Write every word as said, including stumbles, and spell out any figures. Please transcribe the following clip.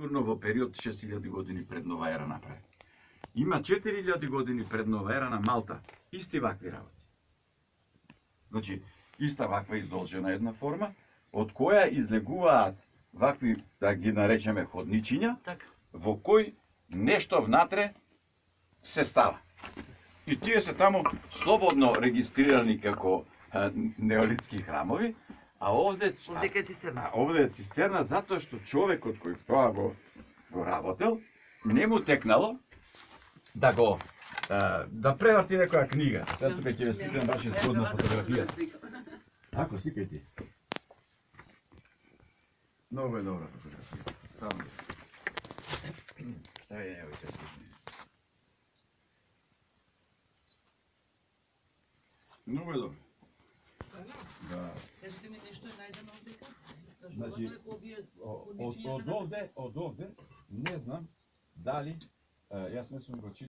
сигурно во период шест илјади години пред нова ера направи. Има четири илјади години пред нова ера на Малта исти вакви работи. Значи, иста ваква издолжена една форма, од која излегуваат вакви, да ги наречеме ходничиња, Така. во кој нешто внатре се става. И тие се таму слободно регистрирани како а, неолитски храмови, а овде Овде е цистерна. А овде е цистерна затоа што човекот кој тоа го го работел, не му текнало да го а, да преврти некоја книга. Сега тука ќе ве сликам баш е згодна фотографија. Ако сликај ти. Многу е добра фотографија. Само. Стави него ќе сликам. Многу е добро. Да. Кажете ми нешто е најдено од дека? Значи, од, од овде, од овде, не знам дали, јас не сум го читал.